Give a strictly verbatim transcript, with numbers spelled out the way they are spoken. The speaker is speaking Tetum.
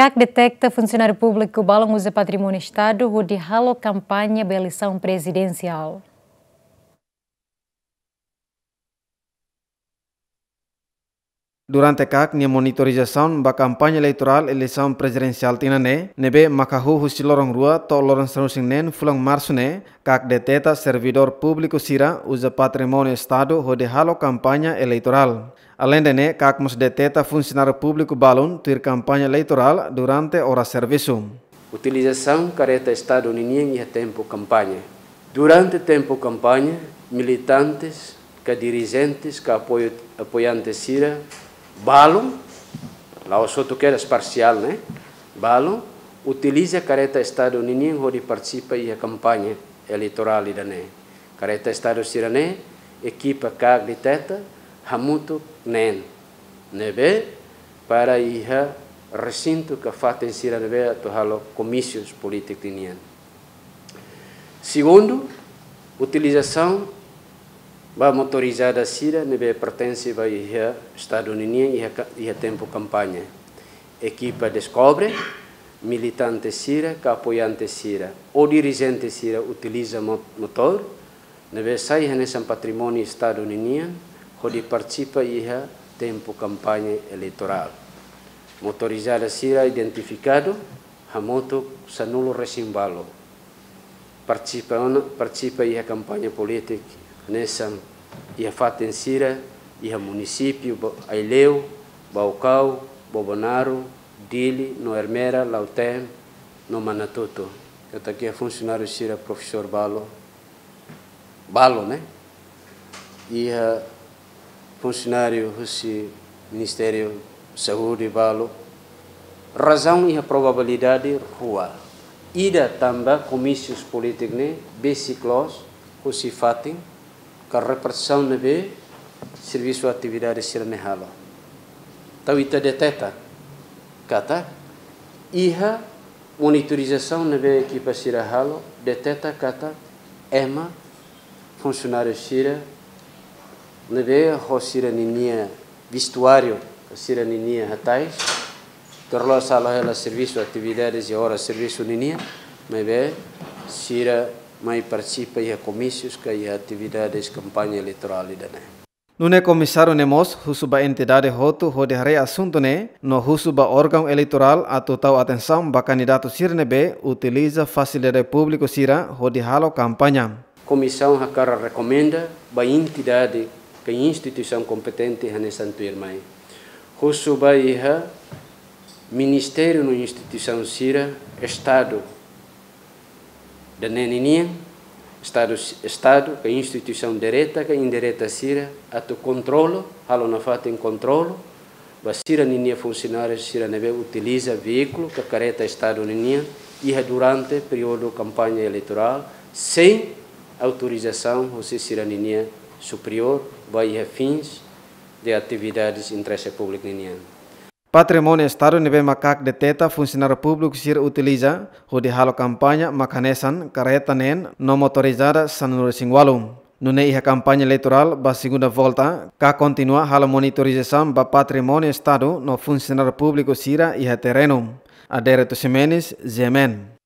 KAK deteta funsionáriu públiku balun uza patrimóniu Estadu hodi halo kampaña ba eleisaun prezidensiál. Durante KAK nia monitorizasaun ba kampaña eleitorál eleisaun prezidensiál tinan ne'e, ne'ebé mak hahú husi loron rua to'o loron sanulu-resin-neen fulan Marsu ne'e, KAK deteta servidór públiku sira uza patrimóniu Estadu hodi halo kampaña eleitorál. Aleinde ne'e, KAK mós deteta funsionáriu públiku balun tuir kampaña eleitorál durante oras servisu. Utilizasaun kareta Estadu ninian iha tempu kampaña. Durante tempu kampaña, militantes, ka dirijentes, ka apoiu, apoiante sira, balun, la'ós hotu kedas, parsiál, ne'e? Balun utiliza kareta Estadu ninian hodi partisipa iha kampaña eleitorál ida-ne'e. Kareta Estadu sira-ne'e, ekipa KAK deteta hamutuk neen, ne'ebé para iha resintu ka fatin sira ne'ebé atu halo komísiu polítiku ninian. Segundu, utilizasaun ba motorizada sira ne'ebé pertense ba iha Estadu ninian iha ka-, iha tempu kampaña. Ekipa deskobre, militante sira, ka apoiante sira, ou dirijente sira utiliza mo-, motór ne'ebé sai hanesan patrimóniu Estadu ninian, hodi partisipa iha tempu kampaña eleitorál. Motorizada sira identifikadu hamutuk sanulu-resin-ualu. Partisipa ona, partisipa iha kampaña polítiku hanesan iha fatin sira, iha munisípiu Ba-, Aileu, Baucau, Bobonaro, Dili, no Ermera, Lautém, no Manatuto. Katak iha funsionáriu sira profesór balu, balu, ne'e? Iha funsionáriu husi Ministériu Saúde balu. Razaun iha probabilidade rua. Ida tanba komísiu polítiku ne'e besik loos husi fatin ka repartisaun ne'ebé servisu atividade sira-ne'e halo. Entaun ita deteta katak iha monitorizasaun ne'ebé ekipa sira halo, deteta katak ema funsionáriu sira ne'ebé ho sira-ninia vestuáriu, sira-ninia hatais, terlebih halo hela servisu atividades iha oras servisu ninian, maibé sira mai partisipa iha komísius ka iha atividades kampaña eleitorál ida-ne'e. Nune'e komisáriu ne'e mós husu ba entidade hotu hodi haree asuntu ne'e, no husu ba órgaun eleitorál atu tau atensaun ba kandidatu sira ne'ebé utiliza fasilidade públiku sira hodi halo kampaña. Komisaun hakarak rekomenda ba entidade ka instituisaun kompetente hanesan tuirmai. Husu ba iha ministériu no instituisaun sira, Estadu ida-ne'e ninian, Estadu, Estadu ka instituisaun direta ka indireta sira atu kontrolu, halo nafatin kontrolu ba sira-ninia funsionáriu sira ne'ebé utiliza veíkulu ka kareta Estadu ninian iha durante períodu kampaña eleitorál, sein autorizasaun husi sira-ninia superiór ba iha fins de atividades interese públiku ninian. Patrimóniu Estadu ne'ebé mak KAK deteta funsionáriu públiku sira utiliza hodi halo kampaña mak hanesan kareta neen no motorizada sanulu-resin-ualu. Nune'e iha kampaña eleitorál ba segunda volta, KAK kontinua halo monitorizasaun ba patrimóniu Estadu no funsionáriu públiku sira iha terrenu. Adérito Ximenes, G M N.